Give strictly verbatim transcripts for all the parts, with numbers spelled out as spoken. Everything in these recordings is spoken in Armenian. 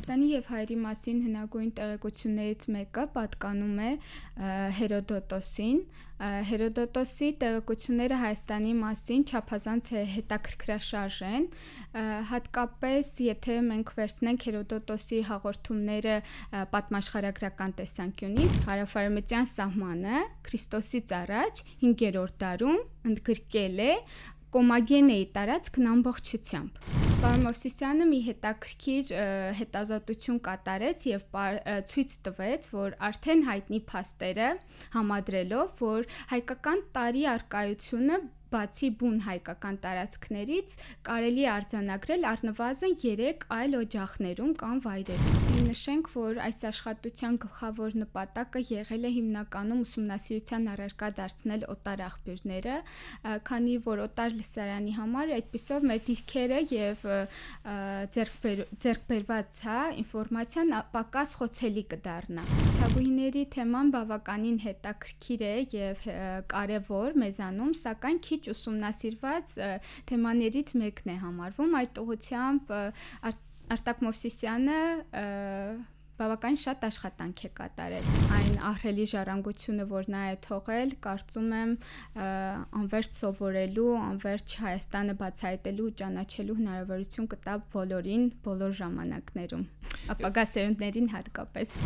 Հայաստանի եւ հայերի մասին հնագույն տեղեկություններից մեկը պատկանում է Հերոդոտոսին։ Հերոդոտոսի տեղեկությունները Հայաստանի մասին չափազանց հետաքրքրաշարժ են, հատկապես եթե մենք վերցնենք Հերոդոտոսի հաղորդումները պատմաշխարհագրական տեսանկյունից, հարավարևմտյան սահմանը Քրիստոսից առաջ հինգերորդ դարում ընդգրկել է Կոմագենեի տարածքն ամբողջությամբ։ Պարոն Մովսիսյանը մի հետաքրքիր հետազոտություն կատարեց եւ ցույց տվեց, որ արդեն հայտնի փաստերը համադրելով, որ հայկական տարի առկայությունը բացի բուն հայկական տարածքներից կարելի է արձանագրել առնվազն երեք այլ օջախներում կամ վայրերում։ Նշենք, որ այս աշխատության գլխավոր նպատակը եղել է հիմնականում ուսումնասիրության առարկա դարձնել օտար աղբյուրները, քանի որ օտար լսարանի համար այդպիսով մեր դիրքերը եւ ձեռքբերված հա ինֆորմացիան պակաս խոցելի կդառնա։ Թագուհիների թեման բավականին հետաքրքիր է եւ կարեւոր մեզանում, սակայն քիչ ուսումնասիրված թեմաներից մեկն է համարվում, այդ ուղղությամբ Արտակ Մովսիսյանը բավական շատ աշխատանք է կատարել։ Այն ահռելի ժառանգությունը, որ նա է թողել, կարծում եմ անվերջ սովորելու, անվերջ Հայաստանը բացահայտելու ու ճանաչելու հնարավորություն կտա բոլորին, բոլոր ժամանակներում, ապագա սերունդներին հատկապես։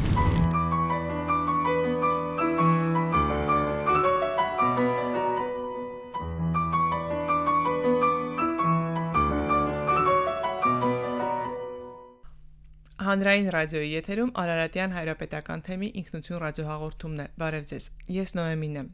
Հանրային ռադիոյի եթերում Արարատյան հայրապետական թեմի ինքնություն ռադիոհաղորդումն է։ Բարև ձեզ։ Ես Նոեմին եմ։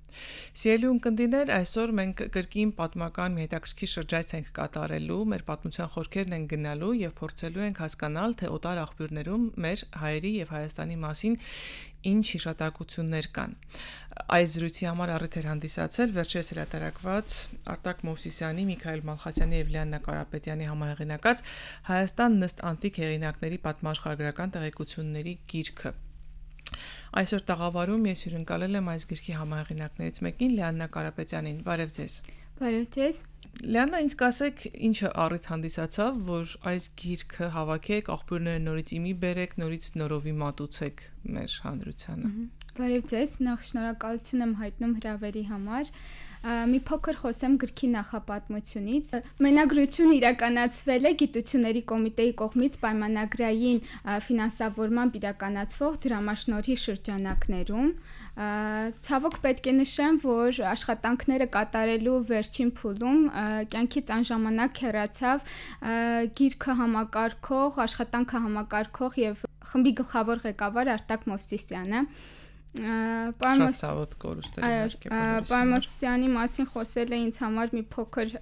Սիրելի ունկնդիրներ, այսօր մենք կրկին պատմական մի հետաքրքիր շրջայց ենք կատարելու, մեր պատմության խորքերն են գնալու եւ փորձելու ենք հասկանալ, թե օտար աղբյուրներում մեր հայերի եւ Հայաստանի մասին ինչ հիշատակություններ կան։ Այս զրույցի համար առիթ էր հանդիսացել վերջերս հրատարակված Արտակ Մովսիսյանի, Միքայել Մալխասյանի եւ Լիաննա Կարապետյանի համահեղինակած Հայաստան նստ անտիկ հեղինակների պատմաշխարհագրական տեղեկությունների գիրքը։ Այսօր տաղավարում ես հյուրընկալել եմ այս գրքի համահեղինակներից մեկին Լիաննա Կարապետյանին։ Բարև ձեզ։ Բարև ձեզ։ Լիաննա, ինձ կասեք, ինչը առիթ հանդիսացավ, որ այս գիրքը հավաքեք, աղբյուրները նորից իմի բերեք, նորից նորովի մատուցեք մեր հանրությանը։ Բարև ձեզ, նախ շնորհակալություն եմ հայտնում հրավերի համար։ Մի փոքր խոսեմ գրքի նախապատմությունից։ Մենագրությունը իրականացվել է Գիտությունների կոմիտեի կողմից պայմանագրային ֆինանսավորմամբ իրականացվող դրամաշնորհի շրջանակներում։ Ցավոք պետք է նշեմ, որ աշխատանքները կատարելու վերջին փուլում կյանքից անժամանակ հեռացավ գիրքը համակարգող, աշխատանքը համակարգող եւ խմբի գլխավոր ղեկավար Արտակ Մովսիսյանը։ Շատ ցավոտ կորուստեր իհարկե։ Պարոն Մովսիսյանի մասին խոսելը ինձ համար մի փոքր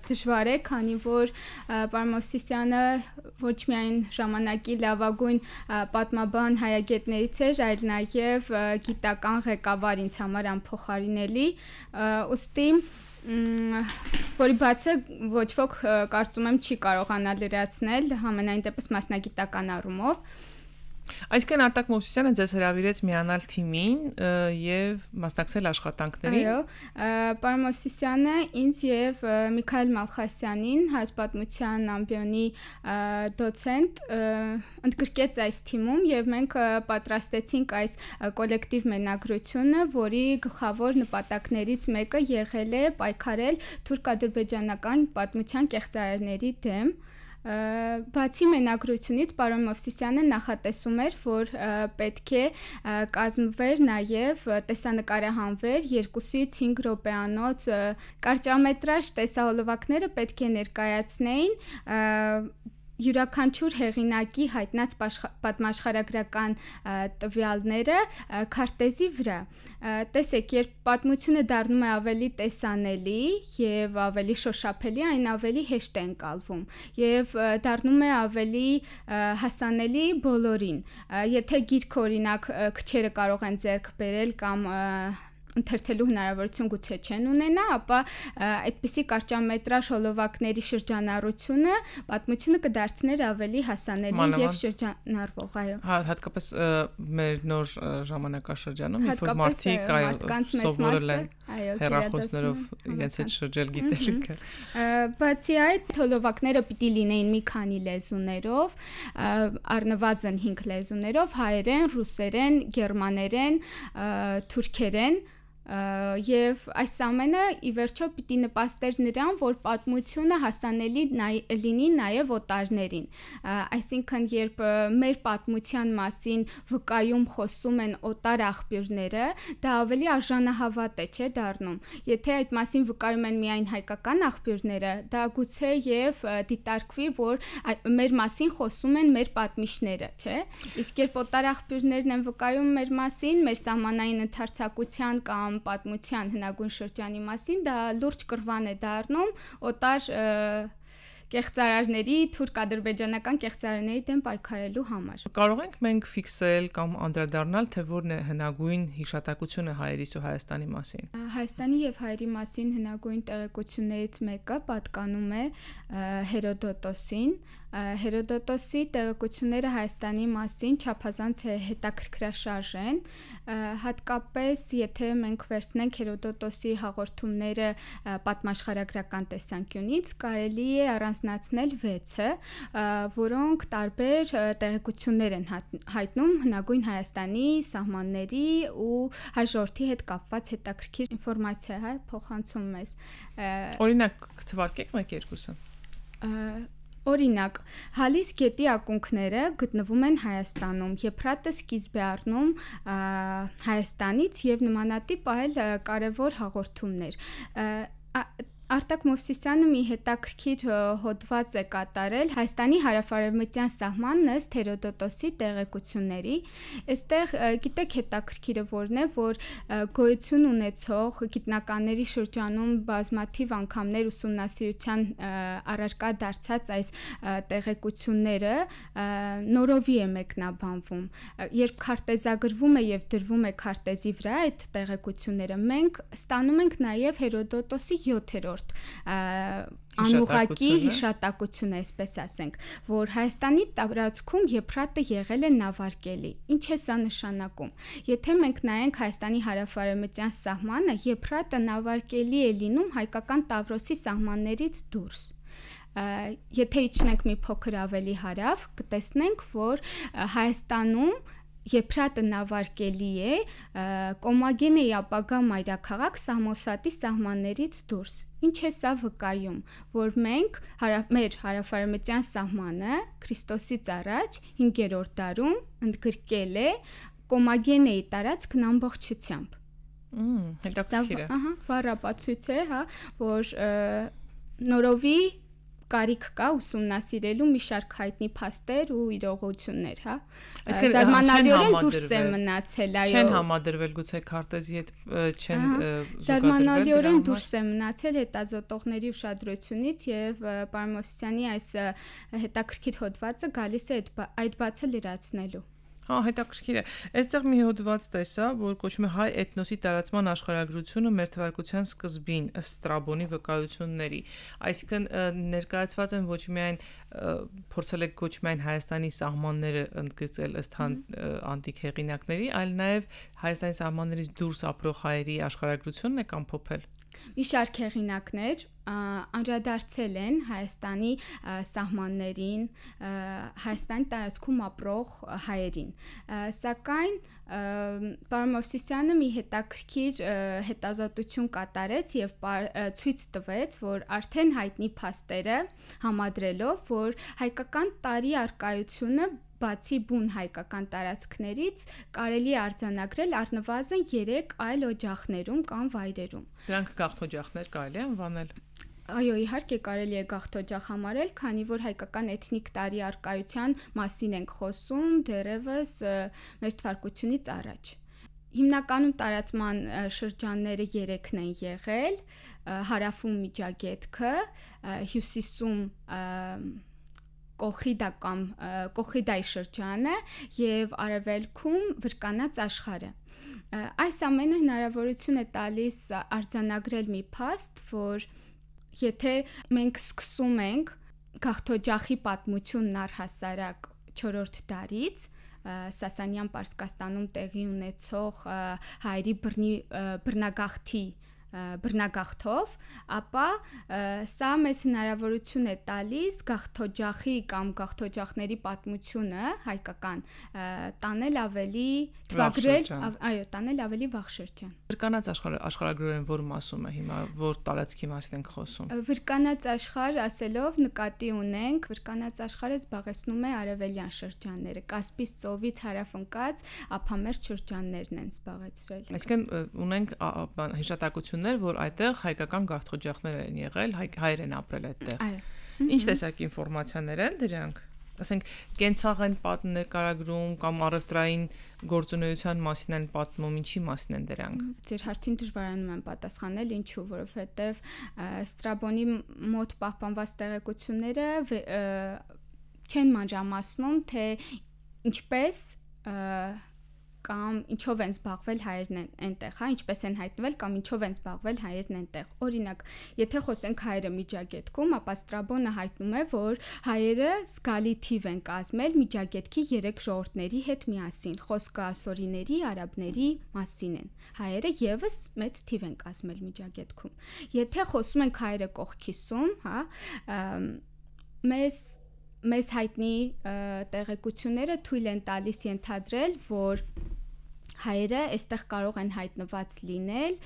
դժվար է, քանի որ պարոն Մովսիսյանը ոչ միայն ժամանակի լավագույն պատմաբան հայագետներից էր, այլ նաև գիտական ղեկավար ինձ համար անփոխարինելի, ուստի որի բացը ոչ ոք կարծում եմ չի կարողանա լրացնել համենայն դեպս մասնագիտական առումով։ Այսինքն Արտակ Մովսիսյանը ձեզ հրավիրեց միանալ թիմին եւ մասնակցել աշխատանքներին։ Այո, պարոն Մովսիսյանը ինձ եւ Միքայել Մալխասյանին, հայոց պատմության ամբիոնի դոցենտ, ընդգրկեց այս թիմում եւ մենք պատրաստեցինք այս կոլեկտիվ մենագրությունը, որի գլխավոր նպատակներից մեկը եղել է պայքարել թուրք-ադրբեջանական պատմության կեղծարարների դեմ։ Բացի մենագրությունից պարոն Մովսիսյանը նախատեսում էր, որ պետք է կազմվեր նաև տեսանկարահանվեր երկուսից հինգ րոպեանոց կարճամետրաժ տեսահոլովակները պետք է ներկայացնեին յուրաքանչյուր հեղինակի հայտնած պատմաշխարհագրական տվյալները քարտեզի վրա։ Տեսեք, երբ պատմությունը դառնում է ավելի տեսանելի եւ ավելի շոշափելի, այն ավելի հեշտ է ընկալվում եւ դառնում է ավելի հասանելի բոլորին։ Եթե գիրք օրինակ քչերը կարող են ձեռք բերել կամ ընթերցելու հնարավորություն գուցե չեն ունենա, ապա այդպիսի կարճամետրաժ հոլովակների շրջանառությունը պատմությունը կդարձներ ավելի հասանելի եւ շրջանառվող, այո։ Հա, հատկապես մեր նոր ժամանակաշրջանում, երբ որ մարդիկ սովորել են հեռախոսներով իրենց հետ շրջել գիտելիքը։ Բացի այդ, հոլովակները պիտի լինեին մի քանի լեզուներով, առնվազն հինգ լեզուներով՝ հայերեն, ռուսերեն, գերմաներեն, թուրքերեն, եւ այս ամենը ի վերջո պիտի նպաստեր նրան, որ պատմությունը հասանելի լինի նաեւ օտարներին, այսինքն երբ մեր պատմության մասին վկայում խոսում են օտար աղբյուրները, դա ավելի արժանահավատ է, չէ՞ դառնում։ Եթե այդ մասին վկայում են միայն հայկական աղբյուրները, դա գուցե եւ դիտարկվի, որ մեր մասին խոսում են մեր պատմիչները, չէ՞։ Իսկ երբ օտար աղբյուրներն են վկայում մեր մասին, մեր սահմանային ընդարձակության կամ պատմության հնագույն շրջանի մասին, դա լուրջ կռվան է դառնում օտար կեղծարարների, թուրք-ադրբեջանական կեղծարարների դեմ պայքարելու համար։ Կարող ենք մենք ֆիքսել կամ անդրադառնալ, թե որն է հնագույն հիշատակությունը հայերիս ու Հայաստանի մասին։ Հայաստանի եւ հայերի մասին հնագույն տեղեկություններից մեկը պատկանում է Հերոդոտոսին։ Հերոդոտոսի տեղեկությունները Հայաստանի մասին չափազանց հետաքրքրաշարժ են, հատկապես եթե մենք վերցնենք Հերոդոտոսի հաղորդումները պատմաշխարհագրական տեսանկյունից, կարելի է առանձնացնել վեցը, որոնք տարբեր տեղեկություններ են հայտնում հնագույն Հայաստանի սահմանների ու հայ ժողովրդի հետ կապված հետաքրքիր ինֆորմացիա, հա, փոխանցում մեզ։ Օրինակ, թվարկեք մեկ-երկուսը։ Օրինակ, Հալիս գետի ակունքները գտնվում են Հայաստանում, Եփրատը սկիզբ է առնում Հայաստանից եւ նմանատիպ այլ կարևոր հաղորդումներ։ Արտակ Մովսիսյանը մի հետաքրքիր հոդված է կատարել Հայաստանի հարավարևմտյան սահմանն ըստ Հերոդոտոսի տեղեկությունների։ Այստեղ գիտեք հետաքրքիրը որն է, որ գոյություն ունեցող գիտնականների շրջանում բազմաթիվ անգամներ ուսումնասիրության առարկա դարձած այս տեղեկությունները նորովի է մեկնաբանվում։ Երբ քարտեզագրվում է եւ դրվում է քարտեզի վրա այդ տեղեկությունները, մենք ստանում ենք նաեւ Հերոդոտոսի յոթերորդ անուղակի հիշատակություն է, այսպես ասենք, որ Հայաստանի տարածքում Եփրատը եղել է նավարկելի։ Ինչ է սա նշանակում։ Եթե մենք նայենք Հայաստանի հարավարևմտյան սահմանը, Եփրատը նավարկելի է լինում հայկական Տավրոսի սահմաններից դուրս։ Եթե իջնենք մի փոքր ավելի հարավ, կտեսնենք, որ Հայաստանում Եփրատը նավարկելի է Կոմագենեի ապագա մայրաքաղաք Սամոսատի սահմաններից դուրս։ Ինչ է սա վկայում, որ մենք մեր հարավարևմտյան սահմանը Քրիստոսից առաջ հինգերորդ դարում ընդգրկել է Կոմագենեի տարածքն ամբողջությամբ։ Մմ, հետաքրքիր է։ Ահա, վառապացույց է, հա, որ նորովի կարիք կա ուսումնասիրելու մի շարք հայտնի փաստեր ու իրողություններ, հա։ Զարմանալիորեն դուրս է մնացել, այո։ Չեն համադրվել գուցե քարտեզի հետ չեն զուգադրվել։ Զարմանալիորեն դուրս է մնացել հետազոտողների ուշադրությունից եւ պարոն Մովսիսյանի այս հետաքրքիր հոդվածը գալիս է այդ բացը լրացնելու։ Հա, հետաքրքիր է։ Այստեղ մի հոդված տեսա, որ կոչվում է հայ էթնոսի տարածման աշխարհագրությունը մեր թվարկության սկզբին ըստ Ստրաբոնի վկայությունների։ Այսինքն ներկայացված են ոչ միայն փորձել եք ոչ միայն Հայաստանի սահմանները ընդգծել ըստ անտիկ հեղինակների, այլ նաև Հայաստանի սահմաններից դուրս ապրող հայերի աշխարհագրությունն է ամփոփել։ Մի շարք հեղինակներ անդրադարձել են Հայաստանի սահմաններին, Հայաստանի տարածքում ապրող հայերին։ Սակայն պարոն Մովսիսյանը մի հետաքրքիր հետազոտություն կատարեց եւ ցույց տվեց, որ արդեն հայտնի փաստերը համադրելով, որ հայկական տարի արկայությունը բացի բուն հայկական տարածքներից կարելի է արձանագրել առնվազն երեք այլ օջախներում կամ վայրերում։ Դրանք գաղթօջախներ կարելի է անվանել։ Այո, իհարկե կարելի է գաղթօջախ համարել, քանի որ հայկական էթնիկ տարի արկայության մասին ենք խոսում դեռևս մեր թվարկությունից առաջ։ Հիմնականում տարածման շրջանները երեքն են եղել՝ հարավում Միջագետքը, հյուսիսում Կոլխիդա կամ Կոլխիդայի շրջանը եւ արևելքում Վրկանաց աշխարհը։ Այս ամենը հնարավորություն է տալիս արձանագրել մի փաստ, որ եթե մենք սկսում ենք Գաղթօջախի պատմությունն առհասարակ չորրորդ դարից, Սասանյան Պարսկաստանում տեղի ունեցող հայերի բռնագաղթի բռնագաղթով, ապա սա մեզ հնարավորություն է տալիս Գաղթօջախի կամ Գաղթօջախների պատմությունը հայկական տանել ավելի թվագրել, այո, տանել ավելի վաղ շրջան։ Վրկանաց աշխարհագրորեն որ մասում է հիմա, որ տարածքի մասին ենք խոսում։ Վրկանաց աշխարհ ասելով նկատի ունենք, Վրկանաց աշխարհը զբաղեցնում է արևելյան շրջանները, Կասպից ծովից հարավ ընկած ափամերձ շրջաններն են զբաղեցրել։ Այսինքն ունենք հիշատակություն որ այդտեղ հայկական գաղթօջախներ են եղել, հայեր են ապրել այդտեղ։ Ինչ տեսակ ինֆորմացիաներ են դրանք։ Ասենք կենցաղ են պատմում նկարագրում կամ առևտրային գործունեության մասին են պատմում, ինչի մասին են դրանք։ Ձեր հարցին դժվարանում եմ պատասխանել, ինչու, որովհետև Ստրաբոնի մոտ պահպանված տեղեկությունները չեն մանրամասնում, թե ինչպես կամ ինչով են զբաղվել հայերն այնտեղ, հա, ինչպես են հայտնվել կամ ինչով են զբաղվել հայերն այնտեղ։ Օրինակ, եթե խոսենք հայերը Միջագետքում, ապա Ստրաբոնը հայտնում է, որ հայերը զգալի թիվ են կազմել Միջագետքի երեք ժողովուրդների հետ միասին։ Խոսքը ասորիների, արաբների մասին են։ Հայերը եւս մեծ թիվ են կազմել Միջագետքում։ Եթե խոսում ենք հայերը կողքիսում, հա, մեզ մեզ հայտնի տեղեկությունները թույլ են տալիս ենթադրել, որ հայերը այստեղ կարող են հայտնված լինել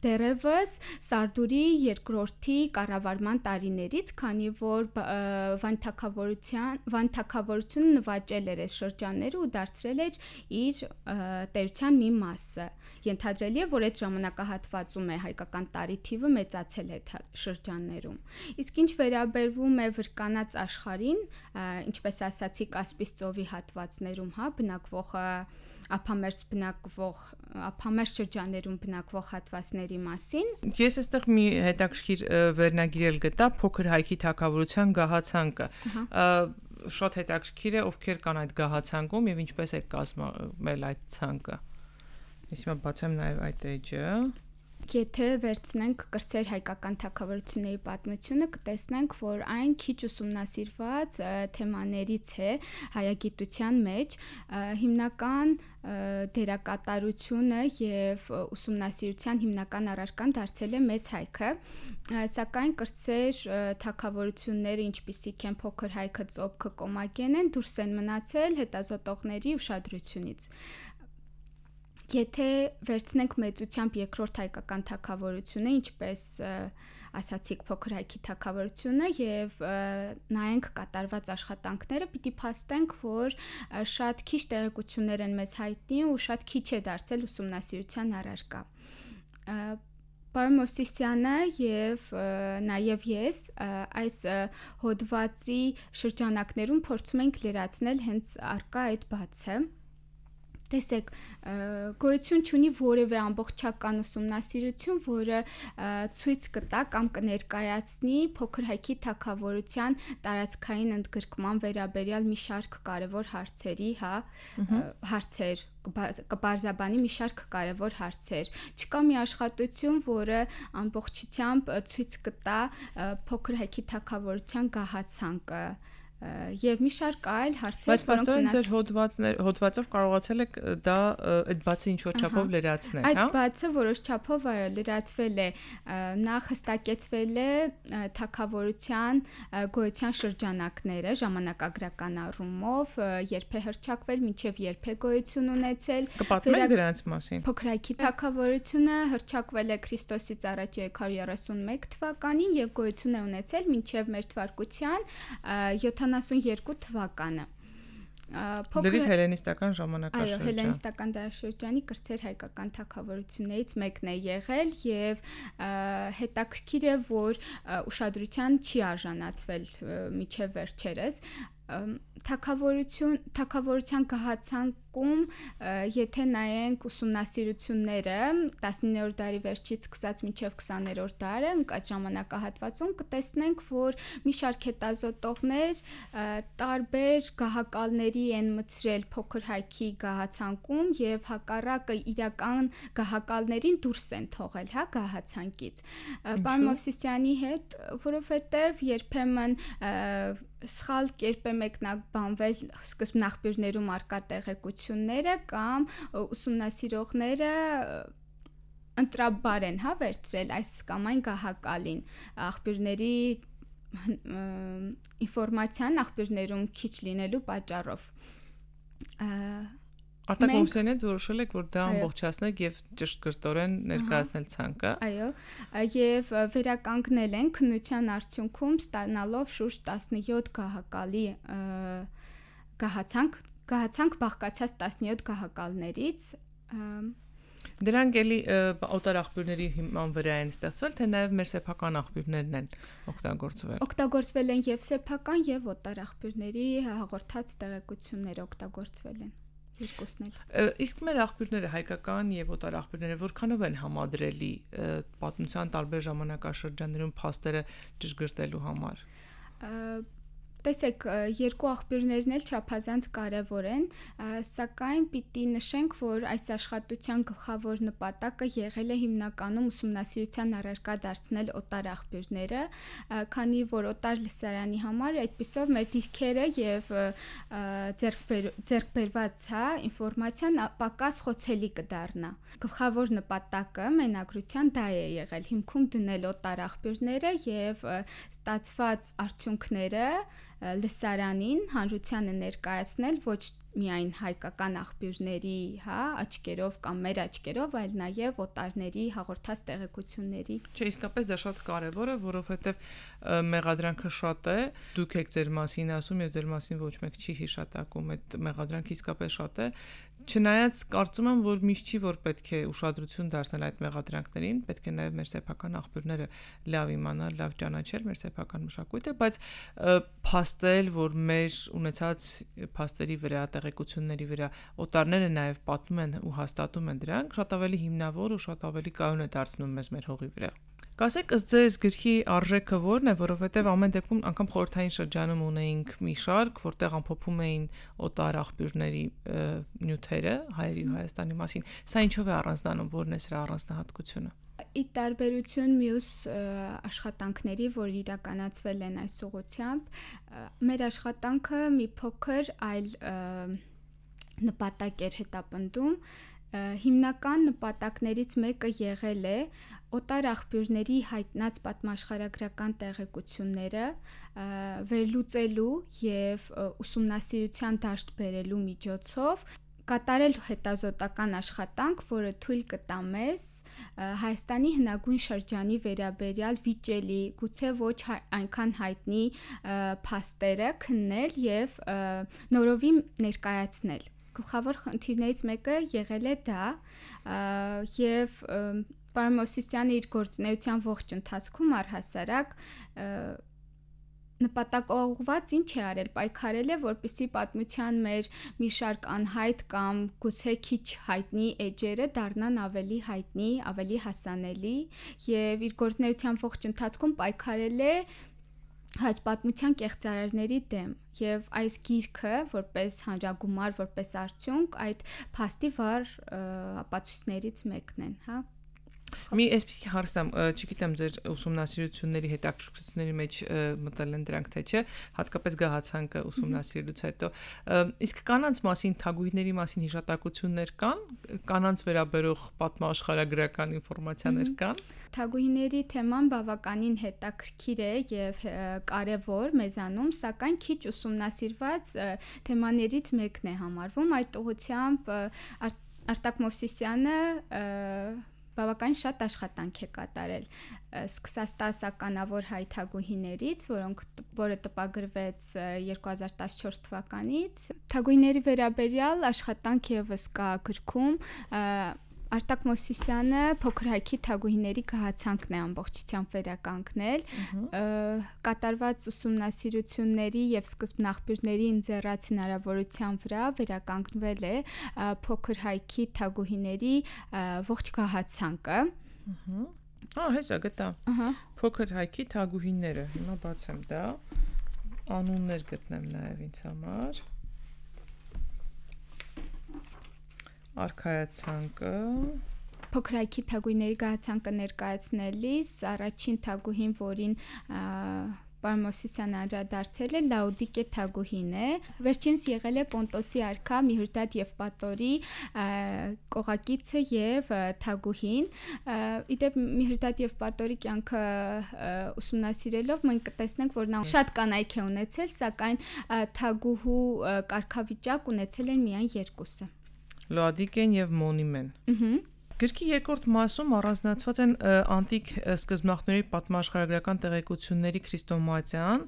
դերևս Սարդուրի երկրորդի կառավարման տարիներից, քանի որ Վան թագավորության Վան թագավորությունը նվաճել էր այս շրջանները ու դարձրել էր իր տերության մի մասը։ Ենթադրելի է, որ այդ ժամանակահատվածում է հայկական տարի թիվը մեծացել այդ շրջաններում։ Իսկ ինչ վերաբերվում է Վրկանաց աշխարհին, ինչպես ասացի, Կասպից ծովի հատվածներում, հա, բնակվող ափամերձ բնակվող ափամերձ շրջաններում բնակվող հատվածների մասին։ Ես այստեղ մի հետաքրքիր վերնագիր գտա փոքր հայքի թագավորության գահացանկը։ Շատ հետաքրքիր է, ովքեր կան այդ գահացանկում եւ ինչպես է կազմել այդ ցանկը։ Ես հիմա բացեմ նաեւ այդ էջը։ Եթե վերցնենք կրծեր հայկական թագավորությունների պատմությունը, կտեսնենք, որ այն քիչ ուսումնասիրված թեմաներից է հայագիտության մեջ, հիմնական դերակատարությունը եւ ուսումնասիրության հիմնական առարկան դարձել է մեծ հայքը, սակայն կրծեր թագավորությունները, ինչպիսիք են փոքր հայքը, ծոփքը, կոմագենեն, դուրս են մնացել հետազոտողների ուշադրությունից։ Եթե վերցնենք մեծությամբ երկրորդ հայկական թագավորությունը, ինչպես ասացիք փոքր հայքի թագավորությունը եւ նայենք կատարված աշխատանքները, պիտի փաստենք, որ շատ քիչ տեղեկություններ են մեզ հայտնի ու շատ քիչ է դարձել ուսումնասիրության առարկա։ Պարոն Մովսիսյանը եւ նաեւ ես այս հոդվածի շրջանակներում փորձում ենք լրացնել հենց առկա այդ բացը։ Տեսեք, գոյություն չունի որևէ ամբողջական ուսումնասիրություն, որը ցույց կտա կամ կներկայացնի փոքր հայքի թագավորության տարածքային ընդգրկման վերաբերյալ մի շարք կարևոր հարցերի, հա, հարցեր, կբարձաբանի մի շարք կարևոր հարցեր։ Չկա մի աշխատություն, որը ամբողջությամբ ցույց կտա փոքր հայքի թագավորության գահացանկը եւ մի շարք այլ հարցեր, բայց պաստորեն ձեր հոդվածներ հոդվածով կարողացել եք դա այդ բացը ինչ որ չափով լրացնել, հա։ Այդ բացը որոշ չափով այո լրացվել է, նախ հստակեցվել է թագավորության գոյության շրջանակները ժամանակագրական առումով, երբ է հռչակվել, մինչև երբ է գոյություն ունեցել։ Կպատմեք դրանց մասին։ Փոքր հայքի թագավորությունը հռչակվել է Քրիստոսից առաջ երկու հարյուր երեսունմեկ թվականին եւ գոյություն է ունեցել մինչև մեր թվարկության յոթանասունյերկու թվականը։ Դեռ հելենիստական ժամանակաշրջան։ Այո, հելենիստական դարաշրջանի կրծեր հայկական թագավորություններից մեկն է եղել եւ հետաքրքիր է, որ ուշադրության չի արժանացվել միջև վերջերս։ Թագավորություն թագավորության գահացանք դեպքում եթե նայենք ուսումնասիրությունները տասնիններորդ դարի վերջից սկսած մինչև քսաներորդ դարը այդ ժամանակահատվածում կտեսնենք, որ մի շարք հետազոտողներ տարբեր գահակալների են մտցրել փոքր հայքի գահացանկում եւ հակառակը իրական գահակալներին դուրս են թողել, հա, գահացանկից։ Պարոն Մովսիսյանի հետ, որովհետեւ երբեմն սխալ կերպ է մեկնաբանվել սկզբնաղբյուրներում արկա տեղեկությունները կամ ուսումնասիրողները ընտրաբար են, հա, վերցրել այս կամ այն գահակալին աղբյուրների ինֆորմացիան աղբյուրներում քիչ լինելու պատճառով։ Արտակ Մովսիսյանը որոշել եք, որ դա ամբողջացնեք եւ ճշգրտորեն ներկայացնել ցանկը։ Այո, եւ վերականգնել են քննության արդյունքում ստանալով շուրջ տասնյոթ գահակալի գահացանք, գահացանք բաղկացած տասնյոթ գահակալներից։ Դրանք էլի օտար աղբյուրների հիման վրա են ստեղծվել, թե նաև մեր սեփական աղբյուրներն են օգտագործվել։ Օգտագործվել են եւ սեփական եւ օտար աղբյուրների հաղորդած տեղեկությունները օգտագործվել են։ Երկուսն էլ։ Իսկ մեր աղբյուրները հայկական եւ օտար աղբյուրները որքանով են համադրելի պատմության տարբեր ժամանակաշրջաններում փաստերը ճշգրտելու համար։ Տեսեք, երկու աղբյուրներն էլ չափազանց կարևոր են, սակայն պիտի նշենք, որ այս աշխատության գլխավոր նպատակը եղել է հիմնականում ուսումնասիրության առարկա դարձնել օտար աղբյուրները, քանի որ օտար լսարանի համար այդպիսով մեր դիրքերը եւ ձեռքբերված, հա, ինֆորմացիան պակաս խոցելի կդառնա։ Գլխավոր նպատակը մենագրության դա է եղել, հիմքում դնել օտար աղբյուրները եւ ստացված արդյունքները լսարանին հանրությանը ներկայացնել ոչ միայն հայկական աղբյուրների, հա, աչքերով կամ մեր աչքերով, այլ նաև օտարների հաղորդած տեղեկությունների։ Չէ, իսկապես դա շատ կարևոր է, որովհետև մեղադրանքը շատ է, դուք եք ձեր մասին ասում եւ ձեր մասին ոչ մեկ չի հիշատակում, այդ մեղադրանքը իսկապես շատ է։ Չնայած կարծում եմ, որ միշտ չի որ պետք է ուշադրություն դարձնել այդ մեղադրանքներին, պետք է նաև մեր սեփական աղբյուրները լավ իմանալ, լավ ճանաչել մեր սեփական մշակույթը, բայց փաստել, որ մեր ունեցած փաստերի վրա, տեղեկությունների վրա օտարները նաև պատմում են ու հաստատում են դրանք, շատ ավելի հիմնավոր ու շատ ավելի կայուն է դարձնում մեզ մեր հողի վրա։ Կասեք, ըստ ձեզ գրքի արժեքը ո՞րն է, որովհետև ամեն դեպքում անգամ խորհրդային շրջանում ունեինք մի շարք, որտեղ ամփոփում էին օտար աղբյուրների նյութերը հայերի ու Հայաստանի մասին։ Սա ինչով է առանձնանում, ո՞րն է սրա առանձնահատկությունը։ Ի տարբերություն մյուս աշխատանքների, որ իրականացվել են այս ուղղությամբ, մեր աշխատանքը մի փոքր այլ նպատակ էր հետապնդում։ Հիմնական նպատակներից մեկը եղել է օտար աղբյուրների հայտնած պատմաշխարհագրական տեղեկությունները վերլուծելու եւ ուսումնասիրության դաշտ բերելու միջոցով կատարել հետազոտական աշխատանք, որը թույլ կտա մեզ Հայաստանի հնագույն շրջանի վերաբերյալ վիճելի, գուցե ոչ այնքան հայտնի փաստերը քննել եւ նորովի ներկայացնել։ Գլխավոր խնդիրներից մեկը եղել է դա եւ պարոն Մովսիսյանը իր գործունեության ողջ ընթացքում առհասարակ նպատակաուղղված ինչ է արել, պայքարել է, որպեսզի պատմության մեր մի շարք անհայտ կամ գուցե քիչ հայտնի էջերը դառնան ավելի հայտնի, ավելի հասանելի եւ իր գործունեության ողջ ընթացքում պայքարել է հայ պատմության կեղծարարների դեմ եւ այս գիրքը որպես հանրագումար, որպես արդյունք այդ փաստի վառ ապացույցներից մեկն են, հա։ Մի այսպեսի հարցամ, չգիտեմ ձեր ուսումնասիրությունների հետաքրքրությունների մեջ մտել են դրանք թե չէ, հատկապես գահացանկը ուսումնասիրելուց հետո, իսկ կանանց մասին, թագուհիների մասին հիշատակություններ կան, կանանց վերաբերող պատմաշխարհագրական ինֆորմացիաներ կան։ Թագուհիների թեման բավականին հետաքրքիր է եւ կարեւոր մեզանում, սակայն քիչ ուսումնասիրված թեմաներից մեկն է համարվում։ Այդ ուղղությամբ Արտակ Մովսիսյանը բավականին շատ աշխատանք է կատարել, սկսած տասականավոր հայ թագուհիներից, որոնք որը տպագրվեց երկու հազար տասնչորս թվականից։ Թագուհիների վերաբերյալ աշխատանք եւս կա գրքում, Արտակ Մովսիսյանը փոքր հայքի թագուհիների գահացանքն է ամբողջությամբ վերականգնել, կատարված ուսումնասիրությունների եւ սկզբնաղբյուրների ինձեռած հնարավորության վրա վերականգնվել է փոքր հայքի թագուհիների ողջ գահացանքը։ Ահա, հեսա գտա։ Փոքր հայքի թագուհիները, հիմա բացեմ դա, անուններ գտնեմ նաեւ ինձ համար։ Արքայացանկը փոքր հայքի թագուհիների գահացանկը ներկայացնելիս առաջին թագուհին, որին պարոն Մովսիսյանը անդրադարձել է, Լաուդիկե թագուհին է, վերջինս եղել է Պոնտոսի արքա Միհրդադ եւ Պատորի կողակիցը եւ թագուհին։ Իդեպ Միհրդադ եւ Պատորի կյանքը ուսումնասիրելով մենք կտեսնենք, որ նա շատ կանայք է ունեցել, սակայն թագուհու կարգավիճակ ունեցել են միայն երկուսը։ Լոադիկեն եւ Մոնիմեն։ Գրքի երկրորդ մասում առանձնացված են անտիկ սկզբնաղբյուրների պատմաշխարհագրական տեղեկությունների քրիստոմատիան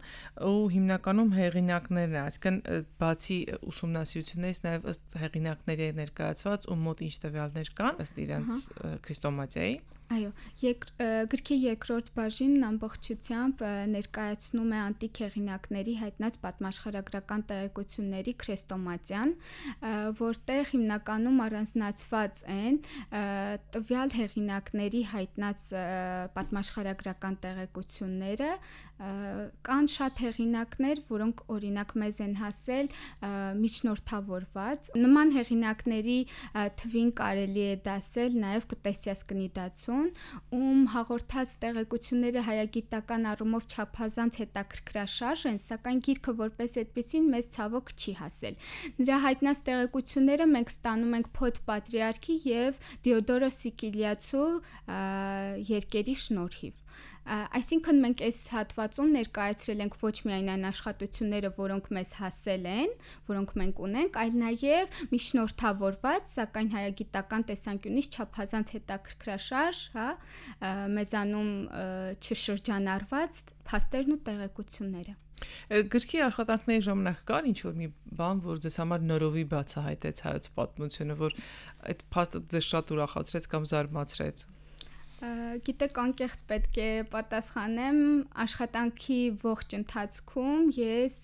ու հիմնականում հեղինակներն են, այսինքն բացի ուսումնասիրություններից նաև ըստ հեղինակների ներկայացված ու մոտ ինչ տվյալներ կան ըստ իրենց քրիստոմատիայի։ Այո, եկ, գրքի երկրորդ բաժինն ամբողջությամբ ներկայացնում է անտիկ հեղինակների հայտնած պատմաշխարհագրական տեղեկությունների քրեստոմատիան, որտեղ հիմնականում առանձնացված են տվյալ հեղինակների հայտնած պատմաշխարհագրական տեղեկությունները, կան շատ հեղինակներ, որոնք օրինակ մեզ են հասել միջնորդավորված։ Նման հեղինակների թվին կարելի է դասել նաև Կտեսիաս Կնիդացուն, ում հաղորդած տեղեկությունները հայագիտական առումով չափազանց հետաքրքրաշարժ են, սակայն գիրքը որպես այդպեսին մեզ ցավոք չի հասել։ Նրա հայտնած տեղեկությունները մենք ստանում ենք Փոթ Պատրիարքի եւ Դիոդորոս Սիկիլիացու երկերի շնորհիվ։ Այսինքն մենք այս հատվածում ներկայացրել ենք ոչ միայն այն աշխատությունները, որոնք մեզ հասել են, որոնք մենք ունենք, այլ նաև միջնորդավորված, սակայն հայագիտական տեսանկյունից չափազանց հետաքրքրաշարժ, հա, մեզանում չշրջանառված փաստերն ու տեղեկությունները։ Գրքի աշխատանքների ժամանակ կար ինչ որ մի բան, որ ձեզ համար նորովի բացահայտեց հայոց պատմությունը, որ այդ փաստը ձեզ շատ ուրախացրեց կամ զարմացրեց։ Գիտեք, անկեղծ պետք է պատասխանեմ, աշխատանքի ողջ ընթացքում ես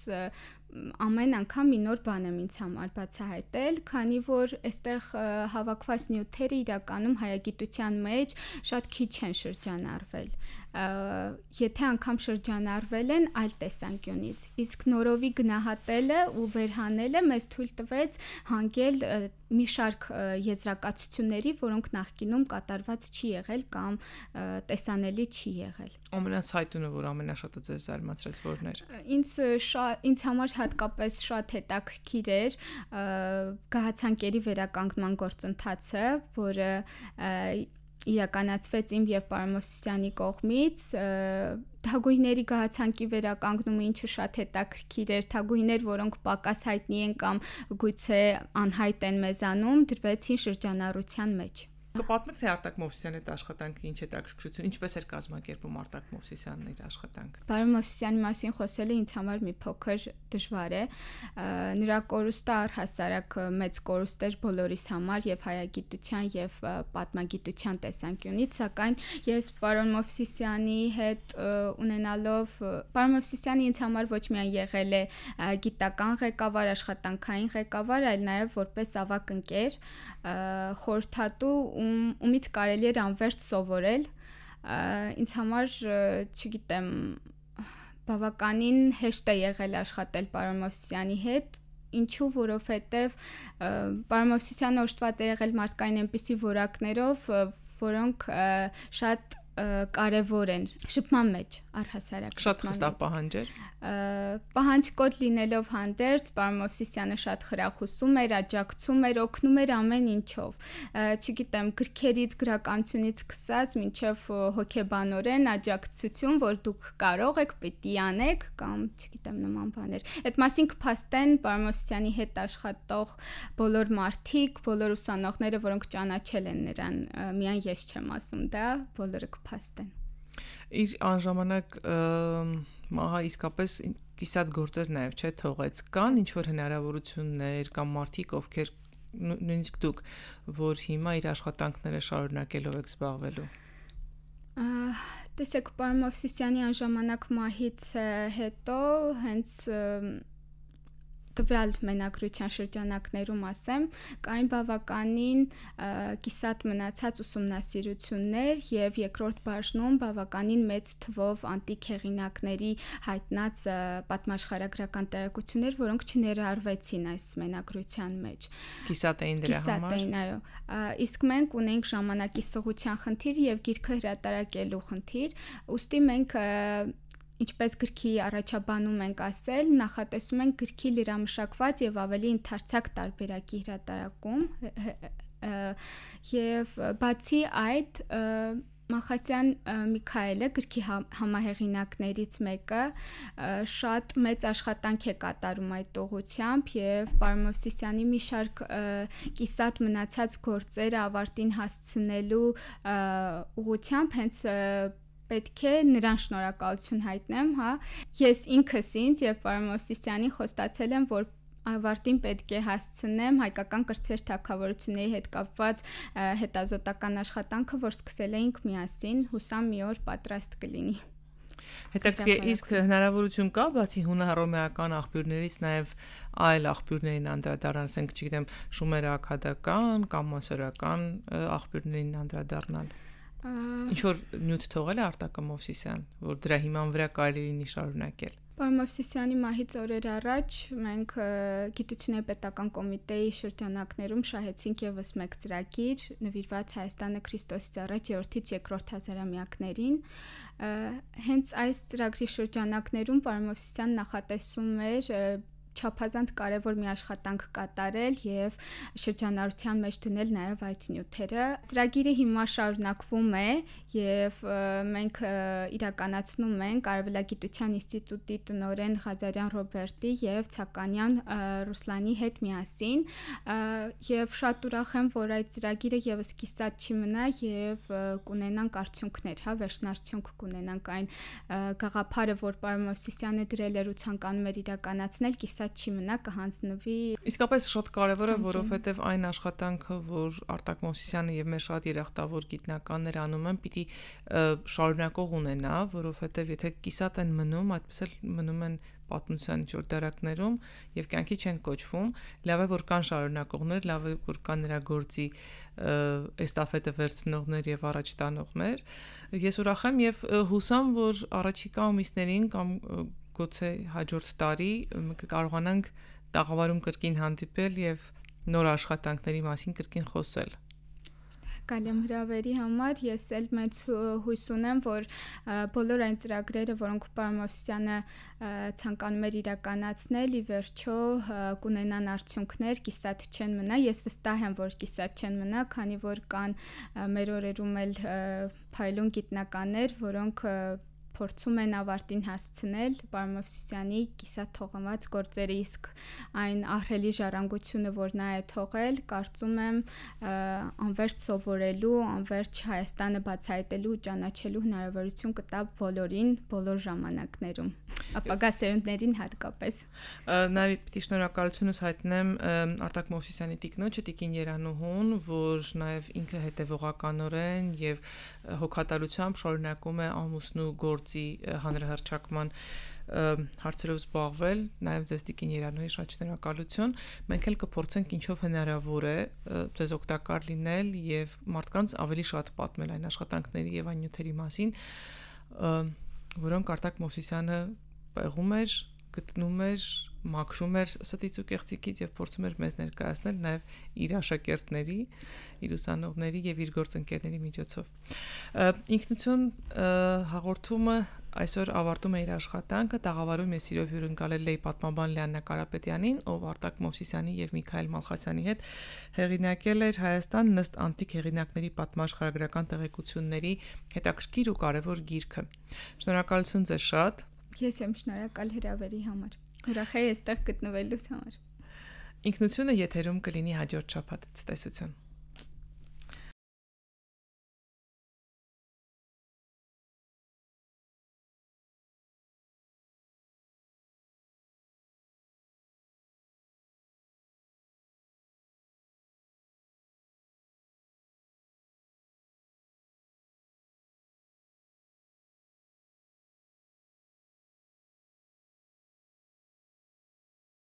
ամեն անգամ մի նոր բան եմ ինձ համար բացահայտել, քանի որ այստեղ հավաքված նյութերը իրականում հայագիտության մեջ շատ քիչ են շրջանառվել։ Եթե անգամ շրջանառվել են այլ տեսանկյունից, իսկ նորովի գնահատելը ու վերհանելը մեզ թույլ տվեց հանգել մի շարք եզրակացությունների, որոնք նախկինում կատարված չի եղել կամ տեսանելի չի եղել։ Ամենացայտունը, որ ամենաշատը ձեզ զարմացրեց, որն էր։ Ինձ ինձ համար հատկապես շատ հետաքրքիր էր գահացանկերի վերականգնման գործընթացը, որը իրականացվեց իմ եւ պարոն Մովսիսյանի կողմից, թագուհիների գահացանկի վերականգնումը, ինչը շատ հետաքրքիր էր, թագուհիներ, որոնք պակաս հայտնի են կամ գուցե անհայտ են մեզանում, դրվեցին շրջանառության մեջ։ Կպատմեք, թե Արտակ Մովսիսյանի այդ աշխատանքը ինչ հետաքրքրություն, ինչպես էր կազմակերպում Արտակ Մովսիսյանն իր աշխատանքը։ Պարոն Մովսիսյանի մասին խոսելը ինձ համար մի փոքր դժվար է։ Նրա կորուստը առհասարակ մեծ կորուստ էր բոլորիս համար եւ հայագիտության եւ պատմագիտության տեսանկյունից, սակայն ես պարոն Մովսիսյանի հետ ունենալով, պարոն Մովսիսյանը ինձ համար ոչ միայն եղել է գիտական ղեկավար, աշխատանքային ղեկավար, այլ նաեւ որպես ավագ ընկեր, խորհրդատու, ումից կարելի էր անվերջ սովորել, ինձ համար, չգիտեմ, բավականին հեշտ է եղել աշխատել պարոն Մովսիսյանի հետ, ինչու, որովհետև պարոն Մովսիսյանը օժտված է եղել մարդկային այնպիսի որակներով, որոնք շատ կարևոր են շփման մեջ առհասարակ շատ խստավ պահանջ էր պահանջկոտ լինելով հանդերձ պարոն Մովսիսյանը շատ խրախուսում էր, աջակցում էր, օգնում էր ամեն ինչով, չգիտեմ, գրքերից, գրականությունից սկսած մինչև հոգեբանորեն աջակցություն, որ դուք կարող եք, պիտի անեք կամ չգիտեմ նման բաներ։ Այդ մասին կփաստեն պարոն Մովսիսյանի հետ աշխատող բոլոր մարդիկ, բոլոր ուսանողները, որոնք ճանաչել են նրան, միայն ես չեմ ասում դա, բոլորը կփաստեն։ Իր անժամանակ մահա իսկապես կիսատ գործեր նաև չէ թողեց, կան ինչ որ հնարավորություններ կամ մարդիկ, ովքեր նույնիսկ դուք, որ հիմա իր աշխատանքները շարունակելով եք զբաղվելու։ Տեսեք, պարոն Մովսիսյանի անժամանակ մահից հետո հենց տվյալ մենագրության շրջանակներում ասեմ, կային բավականին կիսատ մնացած ուսումնասիրություններ եւ երկրորդ բաժնում բավականին մեծ թվով անտիկ հեղինակների հայտնած պատմաշխարհագրական տեղեկություններ, որոնք չներարվեցին այս մենագրության մեջ։ Կիսատ էին դրա համար։ Կիսատ էին, այո։ Իսկ մենք ունենք ժամանակի սղության խնդիր եւ գիրքը հրատարակելու խնդիր, ուստի մենք ինչպես գրքի առաջաբանում ենք ասել, նախատեսում ենք գրքի լրամշակված եւ ավելի ընդարձակ տարբերակի հրատարակում եւ բացի այդ Մալխասյան Միքայելը գրքի համահեղինակներից մեկը շատ մեծ աշխատանք է կատարում այդ ուղղությամբ եւ պարոն Մովսիսյանի մի շարք կիսատ մնացած գործերը ավարտին հասցնելու ուղղությամբ հենց պետք է նրան շնորհակալություն հայտնեմ, հա։ Ես ինքս ինձ եւ պարոն Մովսիսյանին խոստացել եմ, որ ավարտին պետք է հասցնեմ հայկական կրտսեր թագավորությունների հետ կապված հետազոտական աշխատանքը, որ սկսել էինք միասին, հուսամ մի օր պատրաստ կլինի։ Հետաքրքիր, իսկ հնարավորություն կա բացի հունահռոմեական աղբյուրներից նաև այլ աղբյուրներին անդրադառնալ, ասենք, չգիտեմ, շումերաքադական կամ մասորական աղբյուրներին անդրադառնալ։ Ինչ որ նյութ թողել է Արտակը Մովսիսյան, որ դրա հիման վրա կարելի լինի շարունակել։ Պարոն Մովսիսյանի մահից օրեր առաջ մենք Գիտությունների պետական կոմիտեի շրջանակներում շահեցինք եւս մեկ ծրագիր նվիրված Հայաստանը Քրիստոսից առաջ երրորդից երկրորդ հազարամյակներին։ Հենց այս ծրագրի շրջանակներում պարոն Մովսիսյանն նախատեսում էր չափազանց կարևոր մի աշխատանք կատարել եւ շրջանառության մեջ դնել նաեւ այդ նյութերը։ Ծրագիրը հիմա շարունակվում է եւ մենք իրականացնում ենք Արևելագիտության ինստիտուտի տնօրեն Ղազարյան Ռոբերտի եւ Ցականյան Ռուսլանի հետ միասին եւ շատ ուրախ եմ, որ այդ ծրագիրը եւս կիսատ չի մնա եւ կունենանք արդյունքներ, հա, վերջնարդյունք կունենանք այն գաղափարը, որ պարոն Մովսիսյանը դրել էր ու ցանկանում էր իրականացնել, կիսատ չի մնա, կհանձնվի։ Իսկապես շատ կարևոր է, որովհետև այն աշխատանքը, որ Արտակ Մովսիսյանը եւ մեր շատ երախտավոր գիտնականներ անում են, պիտի շարունակող ունենա, որովհետև եթե կիսատ են մնում, այդպես էլ մնում են պատմության ինչ-որ դարակներում եւ կյանքի չեն կոչվում, լավ է որ կան շարունակողներ, լավ է որ կան նրա գործի էստաֆետը վերցնողներ եւ առաջ տանողներ։ Ես ուրախ եմ եւ հուսամ, որ առաջիկա ամիսներին կամ գուցե հաջորդ տարի կարողանանք տաղավարում կրկին հանդիպել եւ նոր աշխատանքների մասին կրկին խոսել։ Կալեմ հրավերի համար ես էլ մեծ հույս ունեմ, որ բոլոր այն ծրագրերը, որոնք պարոն Մովսիսյանը ցանկանում էր իրականացնել, ի վերջո կունենան արդյունքներ, կիսատ չեն մնա։ Ես վստահ եմ, որ կիսատ չեն մնա, քանի որ կան մեր օրերում էլ փայլուն գիտնականներ, որոնք փորձում են ավարտին հասցնել պարոն Մովսիսյանի կիսատ թողնված գործերը, իսկ այն ահռելի ժառանգությունը, որ նա է թողել, կարծում եմ անվերջ սովորելու, անվերջ Հայաստանը բացահայտելու ու ճանաչելու հնարավորություն կտա բոլորին, բոլոր ժամանակներում, ապագա սերունդներին հատկապես։ Նաև պիտի շնորհակալությունս հայտնեմ Արտակ Մովսիսյանի տիկնոջը Տիկին Երանուհուն, որ նաև ինքը հետևողականորեն եւ հոգատարությամբ շարունակում է ամուսնու գործի հանրահռչակման հարցերով զբաղվել, նաև ձեզ Տիկին Երանուհի շատ շնորհակալություն։ Մենք էլ կփորձենք ինչով հնարավոր է ձեզ օգտակար լինել եւ մարդկանց ավելի շատ պատմել այն աշխատանքների եւ այն նյութերի մասին, որոնք Արտակ Մովսիսյանը պեղում էր, գտնում էր, մաքրում էր ստից ու կեղծիկից եւ փորձում էր մեզ ներկայացնել նաեւ իր աշակերտների, իր ուսանողների եւ իր գործընկերների միջոցով։ Ինքնություն հաղորդումը այսօր ավարտում է իր աշխատանքը, տաղավարում ես իրով հյուրընկալել էի պատմաբան Լիաննա Կարապետյանին, ով Արտակ Մովսիսյանի եւ Միքայել Մալխասյանի հետ հեղինակել էր Հայաստան ըստ անտիկ հեղինակների պատմաշխարհագրական տեղեկությունների հետաքրքիր ու կարևոր գիրքը։ Շնորհակալություն ձեզ շատ։ Ես եմ շնորհակալ հրավերի համար։ Ուրախ եմ այստեղ գտնվելուց համար։ Ինքնությունը եթերում կլինի հաջորդ շաբաթ։ Ցտեսություն։